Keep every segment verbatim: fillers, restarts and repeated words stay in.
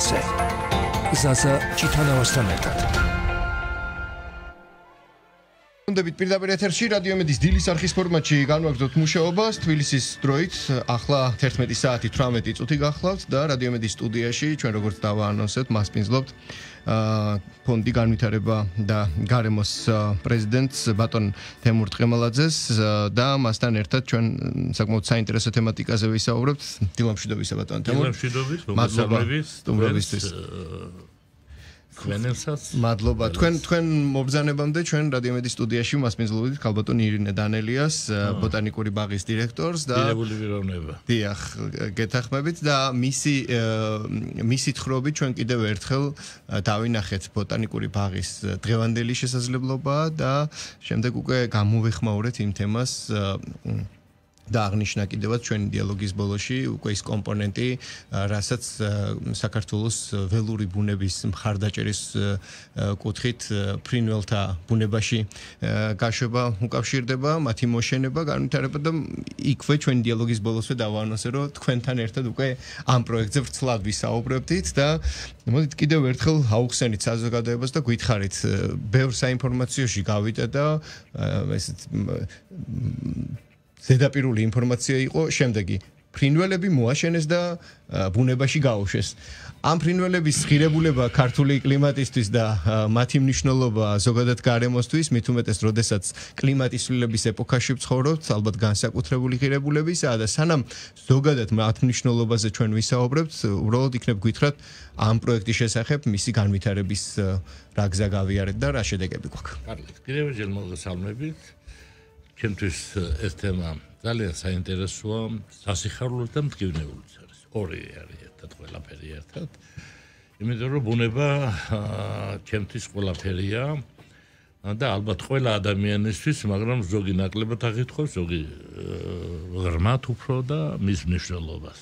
გზაზე. გზაზე ჩიტანავასთან ერთად. Undebit პირდაპირ ეთერში რადიო მედიის დილის არხის ფორმატში განვაგრძობთ მუშაობას თბილისის დროით ახლა თერთმეტი საათი თვრამეტი წუთი გახლავთ და რადიო მედიის სტუდიაში ჩვენ როგორც დავაანონსებთ მასპინძლობთ ფონდი განვითარება და გარემოს პრეზიდენტს ბატონ თემურ ტყემალაძეს და მასთან ერთად ჩვენ საკმაოდ საინტერესო თემატიკაზე ვისაუბრებთ დილამშვიდობისა ბატონ თემურ დილამშვიდობის მოგესალმებით სტუმრობისთვის Ქვენელსაც მადლობა თქვენ თქვენ მობრძანებამდე ჩვენ რადიო მედიის სტუდიაში მასპინძლობთ ქალბატონ ირინე დანელიას ბოტანიკური ბაღის დირექტორს და დიდებული პიროვნება. დიახ, გეთახმებით და მისი მისი თხრობით ჩვენ კიდევ ერთხელ დავინახეთ ბოტანიკური ბაღის დღევანდელი შესაძლებლობა და შემდეგ უკვე გამოვეხმაურეთ იმ თემას და აღნიშნა კიდევაც ჩვენი დიალოგის ბოლოში უკვე ის კომპონენტი, რასაც საქართველოს ველური ბუნების მხარდაჭერის კუთხით ფრინველთა ბუნებაში გაშვება უკავშირდება, მათი მოშენება, განვითარება და იქვე ჩვენი დიალოგის ბოლოსვე დავაანონსე, რომ თქვენთან ერთად უკვე ამ პროექტზე ვრცლად ვისაუბრებდით და მოდით კიდევ ერთხელ აუხსენით საზოგადოებას და გითხარით, ბევრ საინფორმაციოში გავიდა და ესეთ ზედაპირული ინფორმაცია იყო შემდეგი ფრინველები მოაშენეს და ბუნებაში გაუშვეს. ამ ფრინველების ღირებულება ქართული კლიმატისთვის და მათი მნიშვნელობა ზოგადად გარემოსთვის, მით უმეტეს, როდესაც კლიმატის ცვლილების ეპოქაში ვცხოვრობთ, ალბათ განსაკუთრებული ღირებულებისა და სანამ ზოგადად მათ მნიშვნელობაზე ჩვენ ვისაუბრებთ, უბრალოდ იქნებ გითხრათ ამ პროექტის შესახებ, მისი განვითარების რა გზა გავიარეთ და რა შედეგები გვაქვს. კარგი, კიდევ ერთხელ მოგესალმებით. ჩემთვის ეს თემა ძალიან საინტერესოა, სასიხარულო და მტკივნეულიც არის. ორი არის ერთად, ყველაფერი ერთად. იმიტომ რომ ბუნება ჩემთვის ყველაფერია და ალბათ ყველა ადამიანისთვის, მაგრამ ზოგი ნაკლებად აღითხოვს, ზოგი ღრმად უფრო და მის მნიშვნელობას.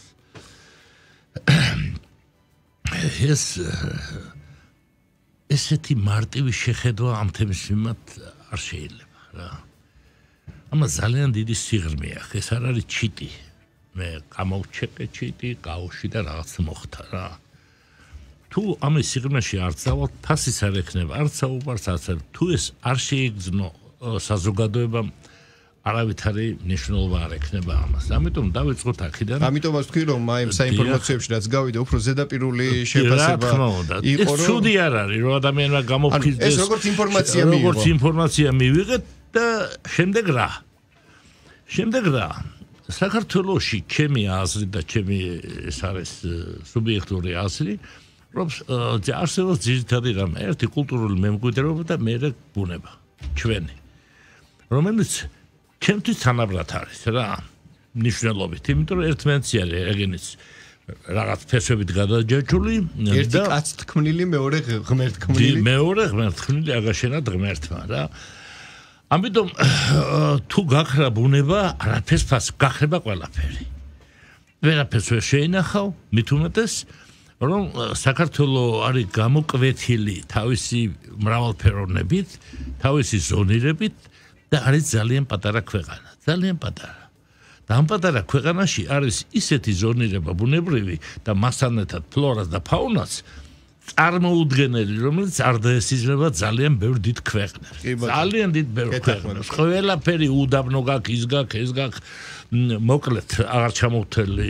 ეს ესეთი მარტივი შეხედვა ამ თემის მიმართ არ შეიძლება რა. ამას ძალიან დიდი სიღრმე აქვს. ეს არ არის ჩიტი. მე გამოვჩეკე ჩიტი, გაუში და რაღაც მოხდა რა. თუ ამის სიღრმეში არ წავალ, თასის არ ექნება, არ საუბარს ასე. თუ ეს არ შეიგრძნო საზოგადოებამ, არავითარი მნიშვნელობა არ ექნება ამას. ამიტომ დავიწყოთ აქედან. ამიტომაც ვთქვი, რომ აი საინფორმაციებში რაც გავიდა, უფრო ზედაპირული შეფასება იყო, რომ ცუდი არ არის, რომ ადამიანმა გამოფხიზდეს. ეს როგორც ინფორმაცია მიიღო. როგორც ინფორმაცია მივიღეთ და შემდეგ რა? შემდეგ რა? საქართველოში ჩემი აზრი და ჩემი ეს არის სუბიექტური აზრი, რომ არსებობს ძირითადი რამ, ერთი კულტურული მემკვიდრეობა და მეორე ბუნება, ჩვენი. რომელიც ჩემთვის თანაბრად არის რა, მნიშვნელობით, იმიტომ რომ ერთმანეთს არის ეგენიც რაღაც ფესვებით გადაჯაჭული ერთი კაც თქმნილი, მეორე ღმერთ თქმნილი. მეორე ღმერთ თქმნილი აგაშენა ღმერთმა რა. ამიტომ თუ გახრა ბუნება, არაფერს ფას გახრება ყველაფერი. ვერაფერს ვერ შეინახავ, მით უმეტეს, რომ საქართველოს არის გამოკვეთილი თავისი მრავალფეროვნებით, თავისი ზონირებით და არის ძალიან პატარა ქვეყანა, ძალიან პატარა. და ამ პატარა ქვეყანაში არის ისეთი ზონირება ბუნებრივი და მასთან ერთად ფლორას და ფაუნას წარმოუდგენელი, რომელიც არ დაესიზრება ძალიან ბევრ დიდ ქვეყნებს. ძალიან დიდ ბევრ ქვეყნებს. ყველაფერი უდაბნო გაქვს, ის გაქვს, ეს გაქვს, მოკლედ აღარ ჩამოვთელი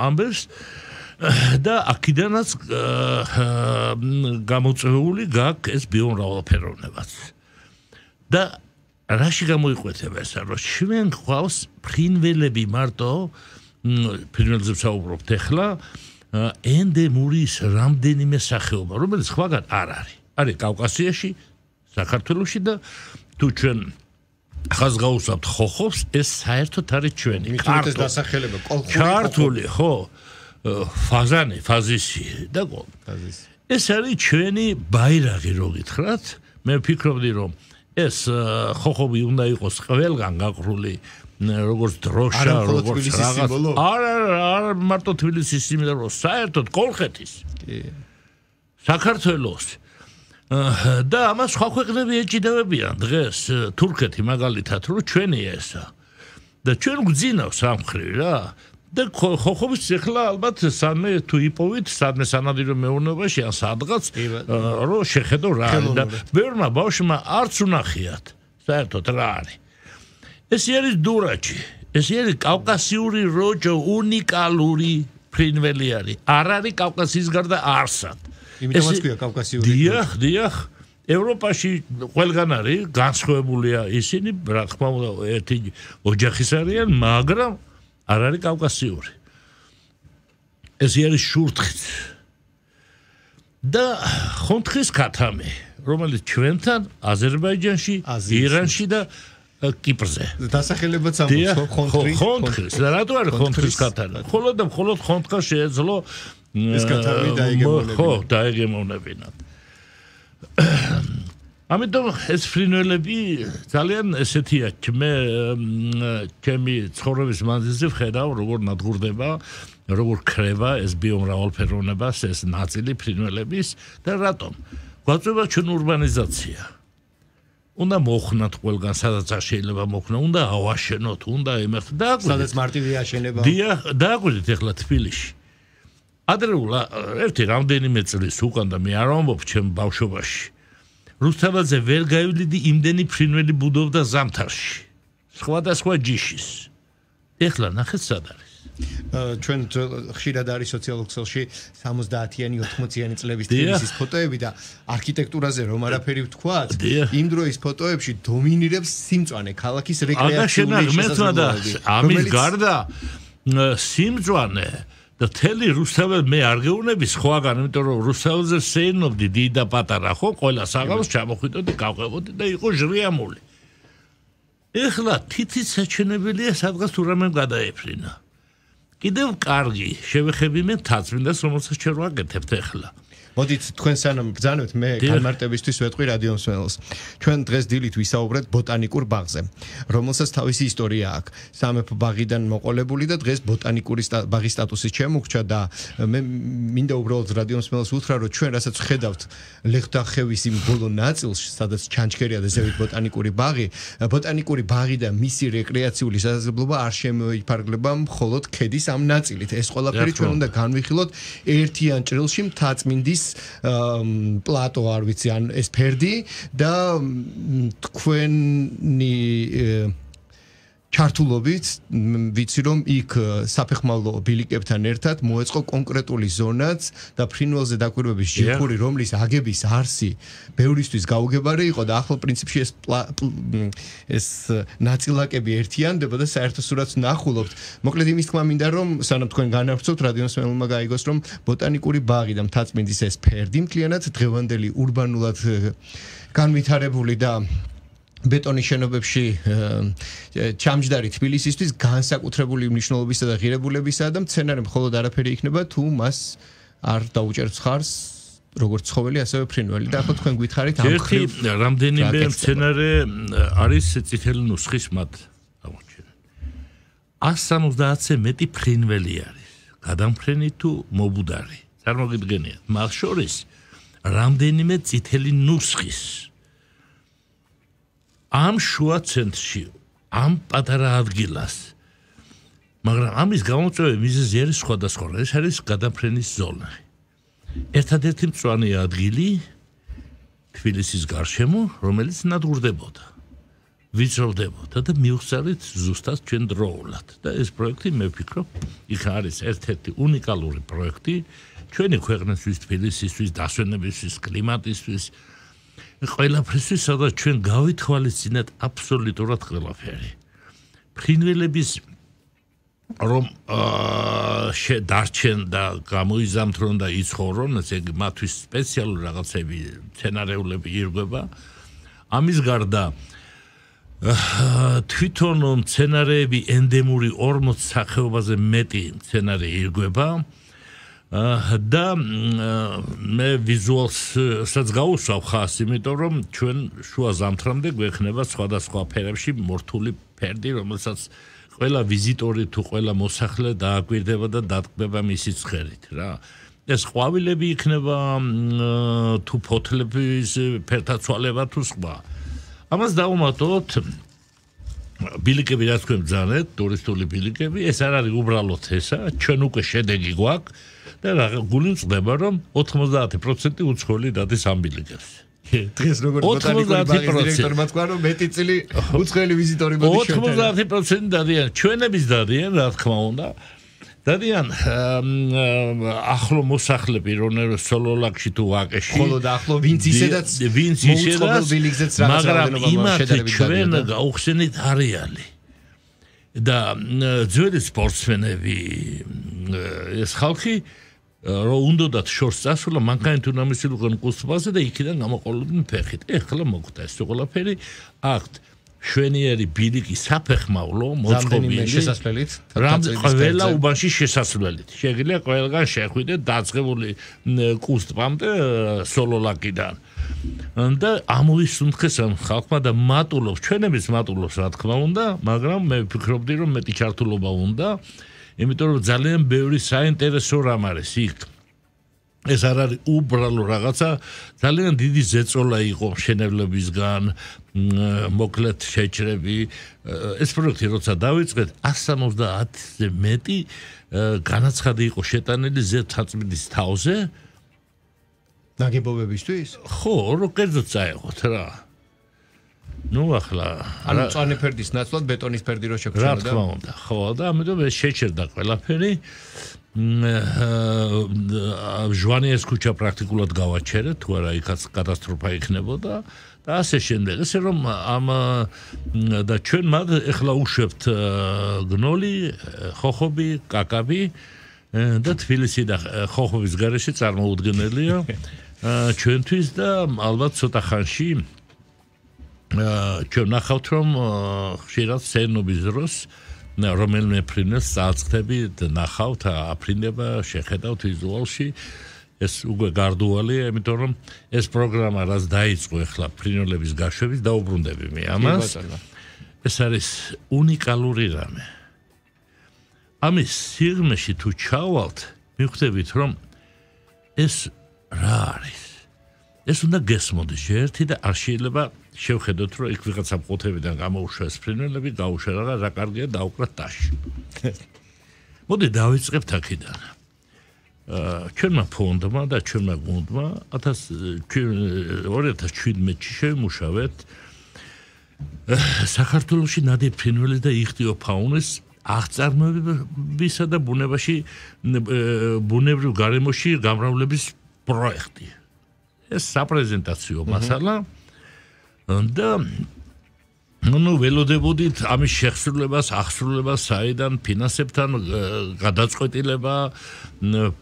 ამბებს და აქედანაც გამოწვეული გაქვს ეს ბიომრავალფეროვნებაც. და რაში გამოიკვეთება ეს, რომ ჩვენ გვყავს ფრინველები მარტო, ფრინველებზე ვსაუბრობთ ახლა, ენდემური რამდენიმე სახეობა, რომელიც სხვაგან არ არის. არის კავკასიაში, საქართველოში და თუ ჩვენ ხაზგაუსავთ ხოხობს, ეს საერთოდ არის ჩვენი. მითუმეტეს დასახელება კოლხური. ქართული, ხო, ფაზანი, ფაზისი და კოლ. ეს არის ჩვენი ბაირაღი, რო გითხრათ. მე ვფიქრობდი, რომ ეს ხოხობი უნდა იყოს ყველგან გაყრული, როგორც დროშა, როგორც რაღაც. არა, არა, მარტო თბილისის სიმდიდრო, საერთოდ კოლხეთის. კი. საქართველოს. და ამას სხვა ქვეყნები ეჭიდებებიან დღეს, თურქეთი მაგალითად, რომ ჩვენი ესა. და ჩვენ გვძინავს ამ ხრივ რა. და ხოხობის ციხლა ალბათ სამე თუ იპოვით სამე სანადირო მეურნეობაში ან სადღაც რომ შეხედო რა არის და ბევრმა ბავშვმა არც უნახიათ საერთოდ რა არის ეს არის დურაჩი ეს არის კავკასიური როჯო უნიკალური ფრინველი არის არ არის კავკასიის გარდა არსად იმიტომაც ქვია კავკასიური დიახ დიახ ევროპაში ყველგან არის განსხვავებულია ისინი რა თქმა უნდა ერთი ოჯახის არიან მაგრამ არ არის კავკასიური ეს არის შურთხიც და ხონთხის ქათამი რომელიც ჩვენთან აზერბაიჯანში ირანში და კიპრზე დასახელებაც ამბობს ხონთხი ხონთხის და რატო არის ხონთხის ქათამი ხოლო და მხოლოდ ხონთხა შეეძლო ეს ქათამი დაიგემოვნებინა ხო დაიგემოვნებინა ამიტომ ეს ფრინველები ძალიან ესეთია მე ჩემი ცხოვრების მანძილზე ვხედავ როგორ ნადგურდება როგორ ქრება ეს ბიომრავალფეროვნება ეს ნაწილი ფრინველების და რატომ გვაწვევა ჩვენ ურბანიზაცია უნდა მოხნათ ყველგან სადაც არ შეიძლება მოხნა უნდა ავაშენოთ უნდა იმერთ და სადაც მარტივი აშენება დიახ დააგვირდით ახლა თბილისში ადრეულ ერთი რამდენიმე წლის უკან და მე არ ვამბობ ჩემ ბავშვობაში რუსთაველზე ვერ გაივლიდი იმდენი ფრინველი ბუდობდა ზამთარში სხვადასხვა ჯიშის ეხლა ნახეთ სად არის ჩვენ ხშირად არის სოციალურ ქსელში სამოცდაათიანი ოთხმოციანი წლების თბილისის ფოტოები და არქიტექტურაზე რომ არაფერი ვთქვათ იმ დროის ფოტოებში დომინირებს სიმწვანე ქალაქის რეკრეაციული შესაძლებლობები ამის გარდა სიმწვანე და თელი რუსთაველ მე არ გეუბნები სხვაგან, იმიტომ რომ რუსთაველზე სეირნობდი დიდი და პატარა ხო, ყველა საღამოს ჩამოხვიდოდი, გავყევოდი და იყო ჟრიამული. ეხლა თითის საჩვენებელია სადღაც თუ რამემ გადაეფრინა. კიდევ კარგი, შევეხები მე თაცმინდას, რომელსაც ჩვენ ვაკეთებთ ეხლა. მოდით თქვენ სანამ ბრძანებთ მე განმარტებისთვის ვეტყვი რადიო მსმენელს. ჩვენ დღეს დილით ვისაუბრეთ ბოტანიკურ ბაღზე, რომელსაც თავისი ისტორია აქვს. სამეფო ბაღიდან მოყოლებული და დღეს ბოტანიკური ბაღის სტატუსით შემოგვჭა და მე მინდა უბრალოდ რადიო მსმენელს უთხრა, რომ ჩვენ რასაც ვხედავთ ლეხტახევის იმ ბოლო ნაწილს, სადაც ჩანჩქერია და ზევით ბოტანიკური ბაღი, ბოტანიკური ბაღი და მისი რეკრეაციული შესაძლებლობა არ შემოიფარგლება მხოლოდ ქედის ამ ნაწილით. ეს ყველაფერი ჩვენ უნდა განვიხილოთ ერთიან ჭრილში მთაწმინდის პლატო არ ვიცი ან ეს ფერდი და თქვენი ჩართულობით ვიცი რომ იქ საფეხმავლო ბილიკებთან ერთად მოეწყო კონკრეტული ზონაც და ფრინველზე დაკვირვების ჯგუფი რომლის აგების არსი ბევრისთვის გაუგებარი იყო და ახლა პრინციპში ეს ეს ნაწილაკები ერთიანდება და საერთო სურათს ნახულობთ. მოკლედ იმის თქმა მინდა რომ სანამ თქვენ განავრცობთ რადიო მსმენელმა გაიგოს რომ ბოტანიკური ბაღი და მთაწმინდის ეს ფერდი მთლიანად დღევანდელი ურბანულად განვითარებული და ბეტონის შენობებში ჩამჯდარი თბილისისთვის განსაკუთრებული მნიშვნელობისა და ღირებულებისა და მცენარე მხოლოდ არაფერი იქნება თუ მას არ დაუჭერთ ხარს როგორც ცხოველი ასევე ფრინველი და ახლა თქვენ გითხარით ამ ხრივ რამდენიმე მცენარე არის წითელი ნუსხის მათ აღმოჩენა one seventy-ზე მეტი ფრინველი არის გადამფრენი თუ მობუდარი წარმოგიდგენიათ მას შორის რამდენიმე წითელი ნუსხის ამ შუა ცენტრში, ამ პატარა ადგილას. მაგრამ ამის გამოწვევი მიზეზი არის სხვადასხვა. ეს არის გადამფრენის ზონა. ერთადერთი მწვანე ადგილი თბილისის გარშემო, რომელიც ნადგურდებოდა. ვიწროვდებოდა და მივხსარით ზუსტად ჩვენ დროულად. და ეს პროექტი მე ვფიქრობ, იქ არის ერთ-ერთი უნიკალური პროექტი ჩვენი ქვეყნისთვის, თბილისისთვის, დასვენებისთვის, კლიმატისთვის ყველაფრისთვის, სადაც ჩვენ გავითვალისწინეთ აბსოლუტურად ყველაფერი. ფრინველების რომ დარჩენ და გამოიზამთრონ და იცხოვრონ, ესე იგი მათთვის სპეციალური რაღაცები, მცენარეულები ირგვება. ამის გარდა თვითონ მცენარეები ენდემური ორმოც სახეობაზე მეტი მცენარე ირგვება. და მე ვიზუალსაც გავუსვავ ხას, იმიტომ რომ ჩვენ შუა ზამთრამდე გვექნება სხვადასხვა ფერებში მორთული ფერდი, რომელსაც ყველა ვიზიტორი თუ ყველა მოსახლე დააკვირდება და დატკბება მისი ცხერით რა. ეს ყვავილები იქნება თუ ფოთლების ფერთა ცვალება თუ სხვა. ამას დავუმატოთ ბილიკები რაც თქვენ ბრძანეთ, ტურისტული ბილიკები, ეს არ არის უბრალოდ ესა, ჩვენ უკვე შედეგი გვაქვს და გული მწყდება, რომ ოთხმოცდაათი პროცენტი უცხოელი დადის ამ ბილიკებს. დღეს როგორც ბოტანიკური ბაღის დირექტორმა თქვა, რომ მეტი წილი უცხოელი ვიზიტორი მოდის ჩვენთან. ოთხმოცდაათი პროცენტი დადიან, ჩვენების დადიან, რა თქმა უნდა. დადიან ახლო მოსახლეები რონეროს სოლოლაკში თუ ვაკეში. ხოლო და ახლო ვინც ისედაც ვინც ისედაც ბილიკზეც რაღაც რაოდენობა შედარებით ჩვენ გაუხსენით არეალი. და ძველი სპორტსმენები ეს ხალხი რომ უნდათ შორს წასულა მანქანით უნდა მისულიყო კუსტბაზე და იქიდან გამოყოლებდნენ ფეხით. ეხლა მოხდა ეს ყველაფერი აქ შვენიერი ბილიკი საფეხმავლო მოწყობილი შესასვლელით ყველა უბანში შესასვლელით შეგიძლია ყველგან შეხვიდეთ დაწყებული კუსტბამდე სოლოლაკიდან და ამოისუნთქეს ამ ხალხმა და მატულობს ჩვენების მატულობს რა თქმა უნდა მაგრამ მე ვფიქრობდი რომ მეტი ჩართულობა უნდა იმიტომ რომ ძალიან ბევრი საინტერესო რამ არის იქ ეს არ არის უბრალო რაღაცა ძალიან დიდი ზეწოლა იყო მშენებლებისგან მოკლედ შეჭრები ეს პროექტი როცა დავიწყეთ εκατს სამოცდაათზე მეტი განაცხადი იყო შეტანილი ზეთაწმიდის თავზე ნაგებობებისთვის ხო რო კერძოდ წაეღოთ რა ნუ ახლა ანუ მწვანე ფერდის ნაცვლად ბეტონის ფერდი რო შეგჭირდა რა თქმა უნდა ხო და ამიტომ ეს შეჭერდა ყველაფერი ჟვანიეს ქუჩა პრაქტიკულად გავაჩერეთ თუ არა იქაც კატასტროფა იქნებოდა და ასე შემდეგ ესე რომ ამ და ჩვენ მათ ეხლა უშვებთ გნოლი ხოხობი კაკაბი და თბილისი და ხოხობის გარეშე წარმოუდგენელია ჩვენთვის და ალბათ ცოტა ხანში ჩვენ ნახავთ რომ ხშირად სენობის დროს რომელიმე ფრინველს წააწყდები და ნახავთ აფრინება შეხედავთ ვიზუალში ეს უკვე გარდუალია იმიტომ რომ ეს პროგრამა რაც დაიწყო ახლა ფრინველების გაშვების დაუბრუნდები მე ამას ეს არის უნიკალური რამე ამის სიღრმეში თუ ჩავალთ მიხვდებით რომ ეს რა არის ეს უნდა გესმოდეს ერთი და არ შეიძლება შევხედოთ რომ იქ ვიღაცა მყუთებიდან გამოუშვეს ფრინველები გაუშვა რა რა კარგია დაუკრათ ტაში მოდი დავიწყებთ აქედან ჩვენმა ფონდმა და ჩვენმა გუნდმა ორი ათას შვიდმეტში შევიმუშავეთ საქართველოში ნადი ფრინველი და იხტიოფაუნის აღწარმოებისა და ბუნებაში ბუნებრივ გარემოში გამრავლების პროექტი ეს საპრეზენტაციო მასალა და ნუ ველოდებოდით ამის შეხსრულებას, აღსრულებას საიდან ფინანსებთან გადაწყვეტილება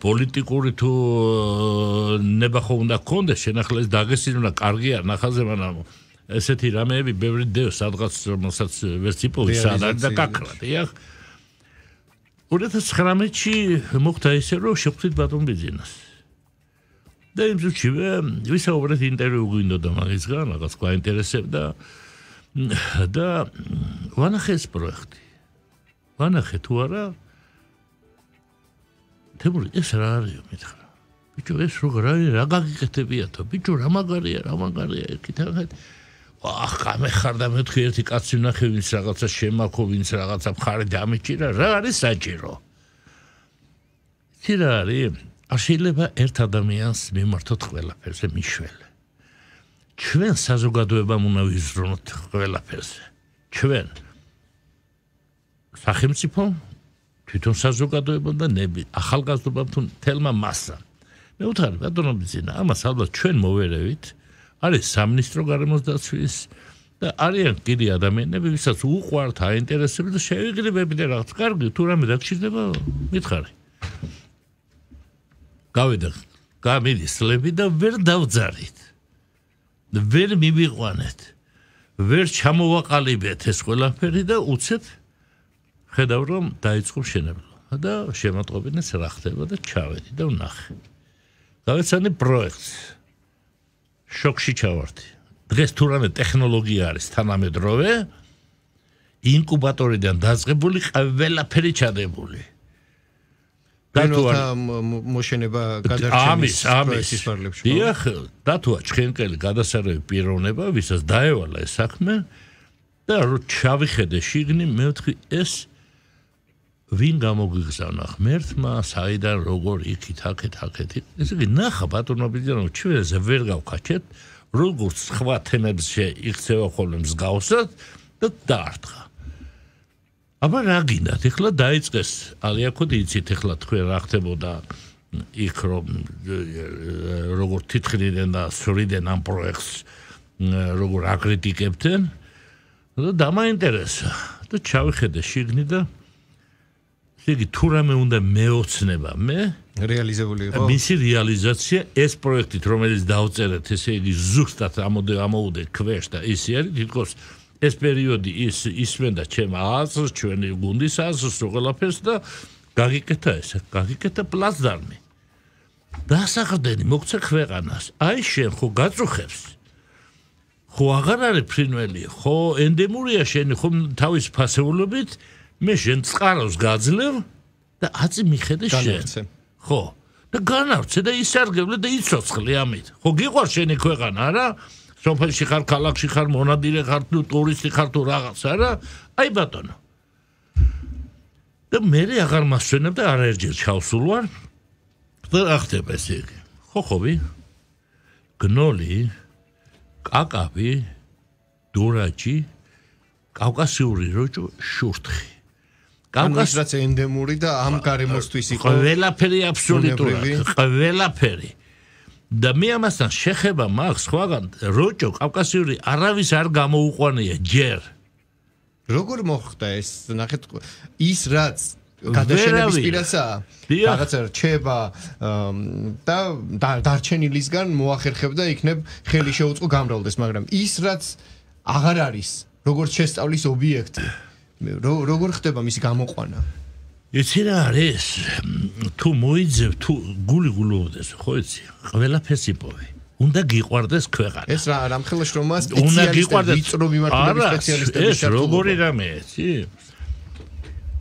პოლიტიკური თუ ნება ხო უნდა გქონდეს შენახლა ეს დაგესინა კარგია ნახაზე მაგრამ ესეთი რამეები ბევრი დევს სადღაც რომელსაც ვერც იპოვის სადაც და კაკრა დიახ ორი ათას ცხრამეტში მოხდა ისე რომ შევხვდით ბატონ ბიძინას და იმ წუთში ვისაუბრეთ ინტერვიუ გვინდოდა მაგისგან რაღაც გვაინტერესებდა და ვანახე ეს პროექტი ვანახე თუ არა თემური ეს რა არის მითხრა ბიჭო ეს როგორ არის რა გაგიკეთებიათო ბიჭო რა მაგარია რა მაგარია ეკითხეთ ახ გამეხარდა მეთქი ერთი კაცი ვნახე ვინც რაღაცა შემაქო ვინც რაღაცა მხარი დამიჭირა რა არის საჭირო ის რა არის არ შეიძლება ერთ ადამიანს მიმართოთ ყველაფერზე მიშველი ჩვენ საზოგადოებამ უნდა ვიზრუნოთ ყველაფერზე ჩვენ სახელმწიფო თვითონ საზოგადოება და ნები ახალგაზრდობამ თუ თელმა მასა მე ვთქვი ბატონო ბიძინა ამას ალბათ ჩვენ მოვერევით არის სამინისტრო გარემოს დაცვის და არიან კიდე ადამიანები ვისაც უყვართ აინტერესებს და შევიგრებები და რაღაც კარგი თუ რამე დაგჭირდება მითხარი გავიდა გამიდის ლები და ვერ დავძარით ვერ მივიყვანეთ ვერ ჩამოვაყალიბეთ ეს ყველაფერი და უცებ ხედავ რომ დაიწყო მშენებლობა და შემატყობინეს რა ხდება და ჩავედი და ვნახე გავეცანი პროექტს შოქში ჩავარდი დღეს თუ რამე ტექნოლოგია არის თანამედროვე ინკუბატორიდან დაწყებული ყველაფერი ჩადებული დათუა მოშენება გადარჩენის პროექტის ფარგლებში. დიახ, დათუა ჩხენკელი გადასარევი პიროვნება, ვისაც დაევალა ეს საქმე და რო ჩავიხედე შიგნი მე ვთქვი ეს ვინ გამოგვიგზავნა ღმერთმა საიდან როგორ იქით აქეთ აქეთ ესე იგი ნახა ბატონო ბიძანო ჩვენზე ვერ გავქაჩეთ როგორც სხვა თემებზე იქცევა ხოლმე მსგავსად და დაარტყა აბა რა გინდათ ეხლა დაიწყეს ალიაკოდი იცით ეხლა თქვენ რა ხდებოდა იქ რომ როგორ თითხრიდან და სვრიდან ამ პროექტს როგორ აკრიტიკებდნენ და დამაინტერესა და ჩავიხედე შიგნი და იგი თუ რამე უნდა მეოცნება მე რეალიზებული იყო მისი რეალიზაცია ეს პროექტით რომელიც დავწერეთ ესე იგი ზუსტად ამოდე ამოუდე ქვეშ და ისე არის თითქოს ეს პერიოდი ის ისმენდა ჩემ აზრს ჩვენი გუნდის აზრს ყველაფერს და გაგიკეთა ესე გაგიკეთა პლაცდარმი დასახდენი მოგცე ქვეყანას აი შენ ხო გაწუხებს ხო აღარ არის ფრინველი ხო ენდემურია შენი ხო თავის ფასეულობით მე შენ წყაროს გაძლევ და აწი მიხედე შენ ხო და განავრცე და ისარგებლე და იცოცხლე ამით ხო გიყვარ შენი ქვეყანა არა სოფელში ხარ ქალაქში ხარ მონადირე ხარ თუ ტურისტი ხარ თუ რაღაც არა აი ბატონო და მე აღარ მასვენებ და არაერთხელ ჩავსულ ვარ და რა ხდება ესე იგი ხოხობი გნოლი კაკავი დურაჯი კავკასიური როჭო შურთხი კავკასიაც ენდემური და ამ გარემოსთვის იყო ყველაფერი აბსოლუტურად ყველაფერი და მე ამასთან შეხება მაქვს სხვაგან როჭო კავკასიური არავის არ გამოუყვანია ჯერ როგორ მოხდა ეს ნახეთ ის რაც გადაშენების პირასაა რაღაცა რჩება და დარჩენილისგან მოახერხებდა იქნებ ხელი შეუწყო გამრავლდეს მაგრამ ის რაც აღარ არის როგორც შესწავლის ობიექტი როგორ ხდება მისი გამოყვანა იცი რა არის თუ მოიძებ თუ გული გულოვდეს ხო იცი ყველაფერს იპოვე უნდა გიყვარდეს ქვეყანა ეს რა რამხელა შრომა სპეციალისტები ვიწრო მიმართულების სპეციალისტები ეს როგორი რამე იცი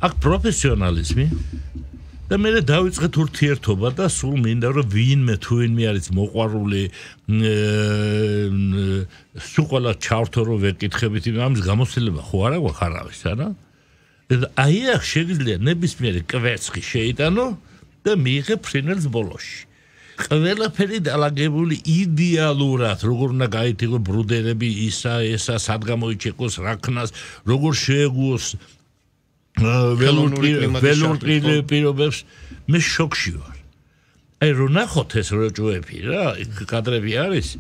აქ პროფესიონალიზმი და მე დავიწყეთ ურთიერთობა და სულ მინდა რომ ვინმე თუ ვინმე არის მოყვარული სულ ყველა ჩავთო რომ ვეკითხებით ამის გამოცდილება ხო არა გვაქვს არავის არა და აი აქ შეიძლება ნებისმიერი კვერცხი შეიტანო და მიიღე ფრინველს ბოლოში ყველაფერი დალაგებული იდეალურად როგორ უნდა გაითიგო ბრუდერები ისა ესა სად გამოიჩეკოს რაქნას როგორ შეეგუოს ველური პირობებს მე შოქში ვარ აი რო ნახოთ ეს როჭოები რა კადრები არის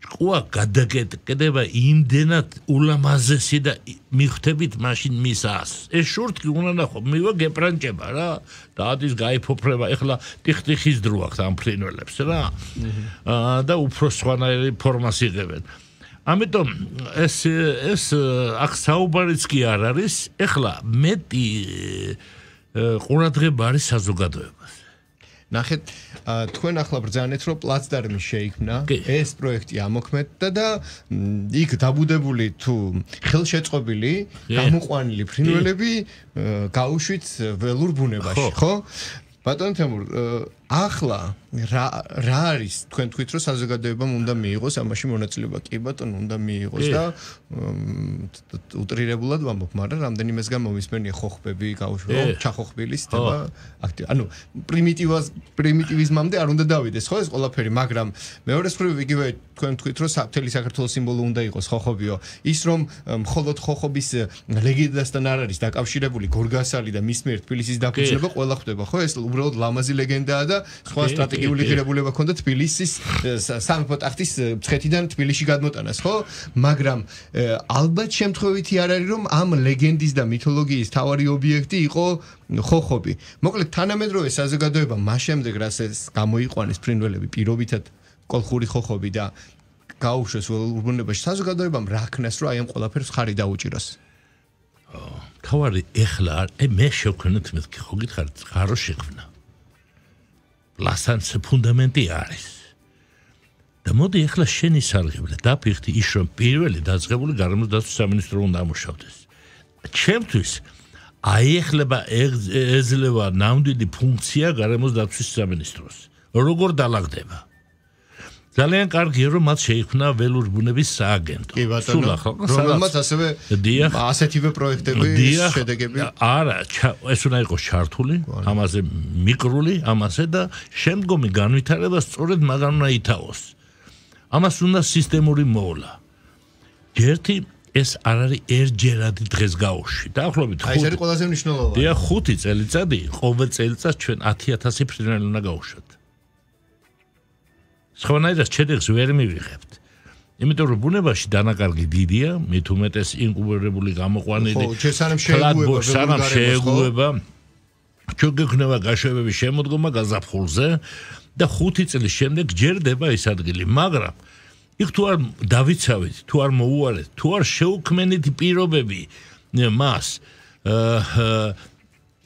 ყვა გადაკეთება იმდენად ულამაზესი და მიხვდებით მაშინ მისას ეს შურთკი უნდა ნახო მივა გეპრანჭება რა და ადის გაიფოფრება ეხლა ტიხტიხის დრო აქვს ამ ფრინველებს რა და უფრო სხვანაირი ფორმას იღებენ ამიტომ ეს ეს აქ საუბარიც კი არ არის ეხლა მეტი ყურადღება არის საზოგადოებას ნახეთ თქვენ ახლა ბრძანეთ რომ პლაცდარმი შეიქმნა ეს პროექტი ამოქმედდა და იქ დაბუდებული თუ ხელშეწყობილი გამოყვანილი ფრინველები გაუშვით ველურ ბუნებაში ხო ბატონ თემურ ახლა რა რა არის თქვენ თქვით რომ საზოგადოებამ უნდა მიიღოს ამაში მონაწილეობა კი ბატონ უნდა მიიღოს და უტრირებულად ვამბობ მაგრამ რამდენიმესგან მომისმენია ხოხბები გაუშვა ჩახოხბილის თემა აქტივ ანუ პრიმიტივას პრიმიტივიზმამდე არ უნდა დავიდეს ხო ეს ყველაფერი მაგრამ მეორე მხრივ იგივე თქვენ თქვით რომ საფრთხელი საქართველოს სიმბოლო უნდა იყოს ხოხობიო ის რომ მხოლოდ ხოხობის ლეგენდასთან არ არის დაკავშირებული გორგასალი და მის მიერ თბილისის დაფუძნება ყველა ხდება ხო ეს უბრალოდ ლამაზი ლეგენდაა და სხვა სტრატეგიული ღირებულება ქონდა თბილისის სამეფო ტახტის მცხეთიდან თბილისში გადმოტანას ხო მაგრამ ალბათ შემთხვევითი არ არის რომ ამ ლეგენდის და მითოლოგიის თავარი ობიექტი იყო ხოხობი მოკლედ თანამედროვე საზოგადოება მას შემდეგ რაც ეს გამოიყვანეს ფრინველები პირობითად კოლხური ხოხობი და გაუშვეს ურბუნებაში საზოგადოებამ რა ქნას რომ აი ამ ყველაფერს ხარი დაუჭიროს თავარი ეხლა აი მე შევქნით მეთქი ხო გითხარით ხარო შექმნა ლასანს ფუნდამენტი არის და მოდი ეხლა შენი სარგებლე დაფიქრდი ის რომ პირველი დაწყებული გარემოს დაცვის სამინისტრო უნდა ამუშავდეს ჩემთვის აიეხლება ეძლევა ნამდვილი ფუნქცია გარემოს დაცვის სამინისტროს როგორ დალაგდება ძალიან კარგია რომ მათ შეიქმნა ველური ბუნების სააგენტო. კი ბატონო, რომელმაც ასევე ასეთივე პროექტები შედეგები არა, ეს უნდა იყოს ჩართული, ამაზე მიკრული, ამაზე და შემდგომი განვითარება სწორედ მაგან უნდა ითავოს. ამას უნდა სისტემური მოვლა. ერთი ეს არ არის ერთჯერადი დღეს გაუში. დაახლოებით ხუთი. აი ეს არის ყველაზე მნიშვნელოვანი. დია ხუთი წელიწადი, ყოველ წელიწადს ჩვენ ათი ათასი ფრინველი უნდა გავუშვათ. სხვანაირად შედეგს ვერ მივიღებთ. იმიტომ რომ ბუნებაში დანაკარგი დიდია, მით უმეტეს ინკუბირებული გამოყვანილი. ხო, შესაძლოა შეეგუება, სანამ შეეგუება. ჩვენ გექნება გაშვებების შემოდგომა გაზაფხულზე და ხუთი წლის შემდეგ ჯერდება ეს ადგილი, მაგრამ იქ თუ არ დავიცავით, თუ არ მოუარეთ, თუ არ შეუქმნით პირობები მას,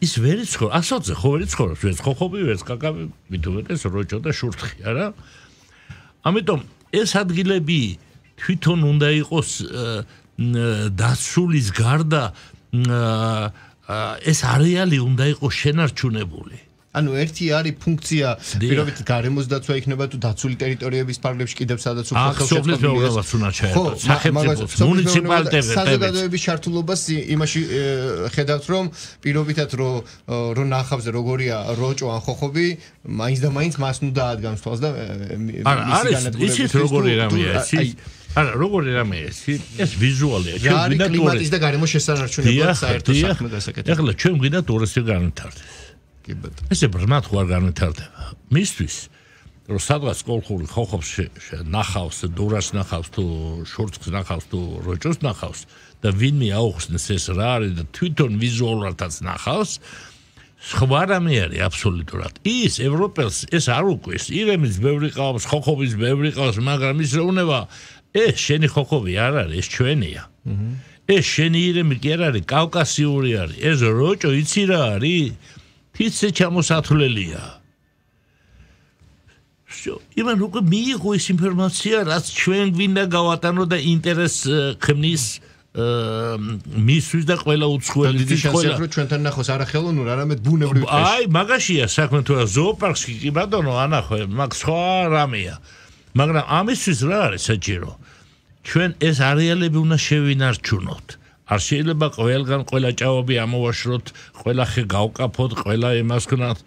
ის ვერ იცხოვრ, ასოთზე ხო ვერ იცხოვრობს, ვერც ხოხობი, ვერც კაკაბი, მით უმეტეს როჭო და შურთხი, არა? ამიტომ ეს ადგილები თვითონ უნდა იყოს დაცულის გარდა ეს არეალი უნდა იყოს შენარჩუნებული. ანუ ერთი არის ფუნქცია, პირობით გარემოს დაცვა იქნება თუ დაცული ტერიტორიების ფარგლებში კიდევ სადაც უფრო ხელშეწყობილებას უნდა ჩაერთოს. სახელმწიფოს, მუნიციპალიტეტების, საზოგადოების ჩართულობას იმაში ხედავთ, რომ პირობითად რომ რომ ნახავზე როგორია როჭო ან ხოხობი, მაინც და მაინც მას ნუ დაადგამს თვალს და მისი განადგურების ისიც როგორი რამეა, ის არა, როგორი რამეა, ეს ვიზუალია, ჩვენ გვინდა კლიმატის და გარემოს შესანარჩუნებლად საერთო საქმე გასაკეთებია. ეხლა ჩვენ გვინდა ტურისტი განვითარდეს. ესე ბრმად ხო არ განვითარდება. მისთვის რომ სადღაც კოლხური ხოხობს ნახავს, დურას ნახავს თუ შურთხს ნახავს თუ როჭოს ნახავს და ვინმე აუხსნეს ეს რა არის და თვითონ ვიზუალურადაც ნახავს, სხვა რამე არის აბსოლუტურად. ის ევროპელს ეს არ უკვეს, ირემის ბევრი ყავს, ხოხობის ბევრი ყავს, მაგრამ ის რა უნდა ეს შენი ხოხობი არ არის, ეს ჩვენია. ეს შენი ირემი კი არ არის, კავკასიური არის. ეს როჭო იცი რა არის? თითზე ჩამოსათვლელია. იმან უკვე მიიღო ეს ინფორმაცია, რაც ჩვენ გვინდა გავატანო და ინტერეს ქმნის მისთვის და ყველა უცხოელისთვის ყველა. რომ ჩვენთან ნახოს არა ხელოვნურ, არამედ ბუნებრივ ტყეში. აი, მაგაშია საქმე თუ რა ზოოპარკში კი ბატონო ანახო, მაგ სხვა რამეა. მაგრამ ამისთვის რა არის საჭირო? ჩვენ ეს არეალები უნდა შევინარჩუნოთ. არ შეიძლება ყველგან ყველა ჭაობი ამოვაშროთ, ყველა ხე გავკაფოთ, ყველა იმას ქნათ.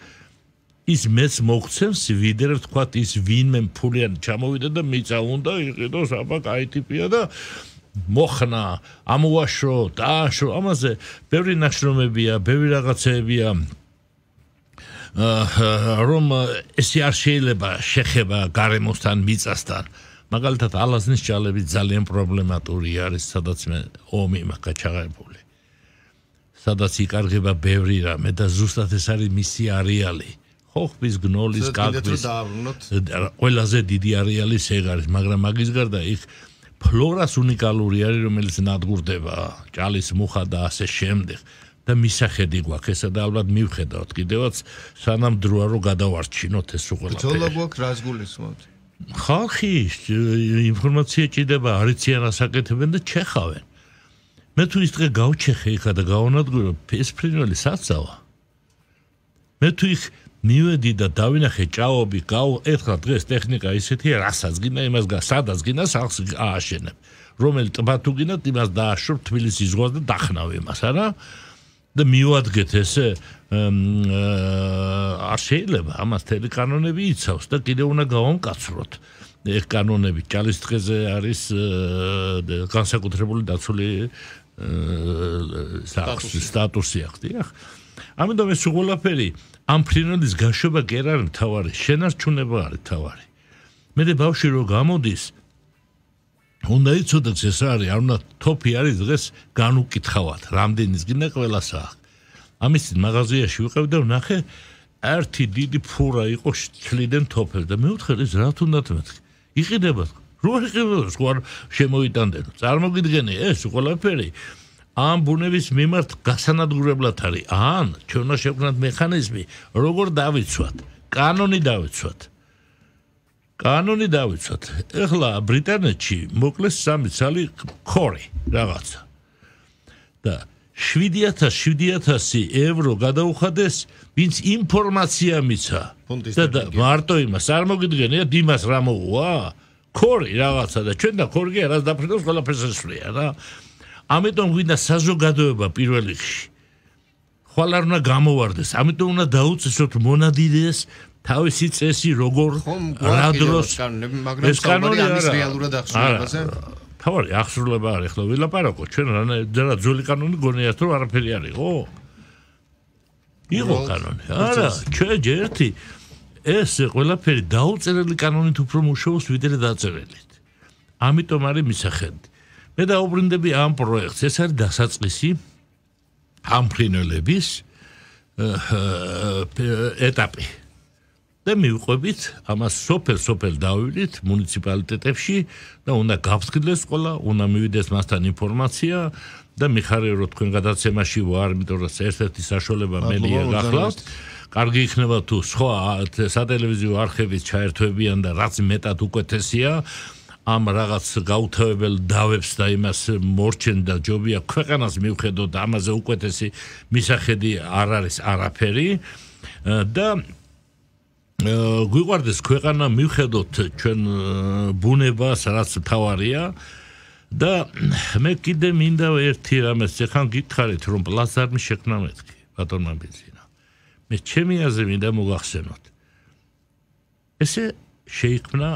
ის მეც მოგცემს ვიდრე თქვათ ის ვინმე ფულიანი ჩამოვიდა და მიწა უნდა იყიდოს, აბა კაი ტიპია და მოხნა, ამოვაშრო, დააშრო, ამაზე ბევრი ნაშრომებია, ბევრი რაღაცეებია. რომ ესე არ შეიძლება შეხება გარემოსთან, მიწასთან. მაგალითად ალაზნის ჭალები ძალიან პრობლემატური არის, სადაც მე ომი მაქვს გაჩაღებული. სადაც იკარგება ბევრი რამე და ზუსტად ეს არის მისი არეალი. ხოხბის, გნოლის, კაკბის. ყველაზე დიდი არეალი ეგ არის, მაგრამ მაგის გარდა იქ ფლორას უნიკალური არის, რომელიც ნადგურდება, ჭალის მუხა და ასე შემდეგ. და მისახედი გვაქვს ესა და ალბათ მივხედავთ კიდევაც სანამ დროა რომ გადავარჩინოთ ეს უყურებელს. ბრძოლა გვაქვს რას გულისხმობთ? ხალხი ინფორმაცია ჭირდება, არიციან ასაკეთებენ და ჩეხავენ. მე თუ ის დღე გავჩეხე იქა და გავანადგურე ეს ფრინველი საცავა. მე თუ იქ მივედი და დავინახე ჭაობი, გავ ეხლა დღეს ტექნიკა ისეთია, რასაც გინდა იმას გა, სადაც გინდა სახს ააშენებ. რომელი ტბა თუ გინდა იმას დააშრობ თბილისის ზღვას და დახნავ იმას, არა? და მივადგეთ ესე არ შეიძლება ამას თელი კანონები იცავს და კიდევ უნდა გავამკაცროთ ეს კანონები ჭალის დღეზე არის განსაკუთრებული დაცული სტატუსი აქვს დიახ ამიტომ ეს ყველაფერი ამ ფრინველის გაშვება კი არ არის მთავარი შენარჩუნება არის მთავარი მე ბავშვი რო გამოდის უნდა იცოდეთ ეს არის არ უნდა თოფი არის დღეს განუკითხავად რამდენის გინდა ყველასა ამის მაღაზიაში ვიყავ და ვნახე ერთი დიდი ფურა იყო ჩლიდან თოფებს და მე ვთხარ ეს რა თუნდაც მეთქი იყიდება რო იყიდება სხვა შემოიტანდენო წარმოგიდგენი ეს ყველაფერი ამ ბუნების მიმართ გასანადგურებლად არის ან ჩვენ უნდა შევქმნათ მექანიზმი როგორ დავიცვათ კანონი დავიცვათ კანონი დავიცვათ. ეხლა ბრიტანეთში მოკლეს სამი ცალი ხორი რაღაცა. და შვიდი ათასი შვიდი ათასი ევრო გადაუხადეს, ვინც ინფორმაცია მიცა. და მარტო იმას არ მოგიდგენიათ იმას რა მოუვა? ქორი რაღაცა და ჩვენ და ქორგი არას დაფრინავს ყველაფერს ესვლია რა. ამიტომ გვინდა საზოგადოება პირველ რიგში. ხვალ არ უნდა გამოვარდეს, ამიტომ უნდა დაუწესოთ მონადირეს თავისი წესი როგორ რა დროს ეს კანონი არის რეალურად აღსრულებაზე. თავი აღსრულება არის, ხო ვილაპარაკო, ჩვენ რა ძველი კანონი გონიათ რომ არაფერი არისო? იყო კანონი. არა, ჩვენ ჯერთი ეს ყველაფერი დაუწერელი კანონით უფრო მუშაობს ვიდრე დაწერილით. ამიტომ არის მისახედი. მე დაუბრუნდები ამ პროექტს, ეს არის დასაწყისი ამ ფრინველების ეტაპი. და მივყვებით ამას სოფელ-სოფელ დავივლით მუნიციპალიტეტებში და უნდა გავსყიდლეს ყველა, უნდა მივიდეს მასთან ინფორმაცია და მიხარია რომ თქვენ გადაცემაში ვარ, იმიტომ რომ ერთ-ერთი საშუალება მელია გახლავთ. კარგი იქნება თუ სხვა სატელევიზიო არხებით ჩაერთვებიან და რაც მეტად უკეთესია ამ რაღაც გაუთავებელ დავებს და იმას მორჩენ და ჯობია ქვეყანას მივხედოთ ამაზე უკეთესი მისახედი არ არის არაფერი და გვიყვარდეს ქვეყანა მივხედოთ ჩვენ ბუნებას რაც თავარია და მე კიდე მინდა ერთი რამეს ეხან გითხარით რომ პლაზმის შექმნა მეთქი ბატონმა ბიზინა მე ჩემი აზრი მინდა მოგახსენოთ ესე შეიქმნა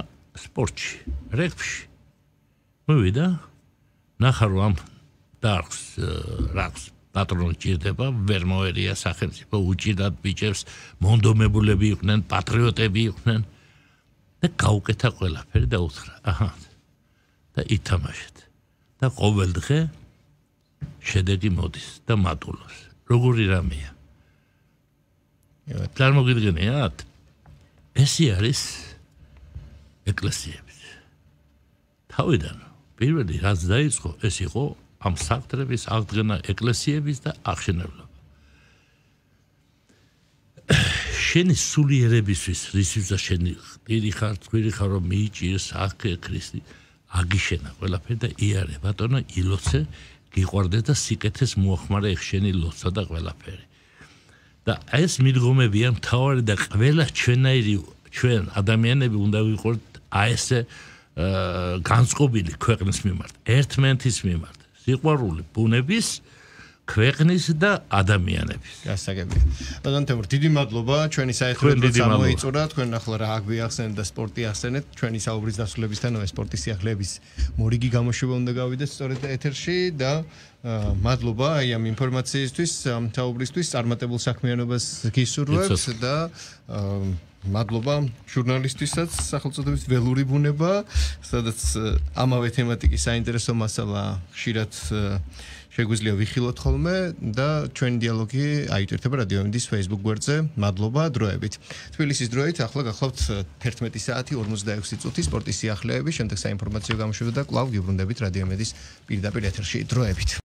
სპორტში რეგბში მოვიდა ნახარ რომ დარგს რაგს პატრონი ჭირდება ვერ მოერია სახელმწიფო უჭირდათ ბიჭებს მონდომებულები იყვნენ პატრიოტები იყვნენ და გაუკეთა ყველაფერი და უთხრა აჰა და ითამაშეთ და ყოველ დღე შედეგი მოდის და მატულობს როგორი რამეა წარმოგიდგენიათ ესე არის ეკლესიები თავიდან პირველი რაც დაიწყო ეს იყო ამ საკუთრების აღდგენა ეკლესიების და აღშენებლობა. შენი სულიერებისთვის, რისთვისაც შენი პირი ხარ, თქვენი ხარ რომ მიიჭირს აქე ქრისტე, აგიშენა ყველაფერი და იარე ბატონო ილოცე, გიყვარდეს და სიკეთეს მოახმარა ეხ შენი ლოცვა და ყველაფერი. და ეს მიდგომებია მთავარი და ყველა ჩვენაირი ჩვენ ადამიანები უნდა ვიყოთ აი ესე განწყობილი ქვეყნის მიმართ, ერთმანეთის მიმართ. სიყვარული ბუნების, ქვეყნის და ადამიანების. გასაგებია. ბატონ თემურ, დიდი მადლობა ჩვენი საერთოდ გამოიწურა, თქვენ ახლა რა აგვიახსენეთ და სპორტი ახსენეთ, ჩვენი საუბრის დასრულებისთანავე სპორტის სიახლეების მორიგი გამოშვება უნდა გავიდეს სწორედ ეთერში და მადლობა აი ამ ინფორმაციისთვის, ამ საუბრისთვის, წარმატებულ საქმიანობას გისურვებთ და მადლობა ჟურნალისტვისაც სახელწოდებით ველური ბუნება, სადაც ამავე თემატიკის საინტერესო მასალა ხშირად შეგვიძლია ვიხილოთ ხოლმე და ჩვენი დიალოგი აიტვირთება რადიო ემდის Facebook გვერდზე. მადლობა დროებით. თბილისის დროით ახლა გახლავთ თერთმეტი საათი ორმოცდაექვსი წუთი სპორტის სიახლეები, შემდეგ საინფორმაციო გამოშვება და კვლავ გიბრუნდებით რადიო ემდის პირდაპირ ეთერში დროებით.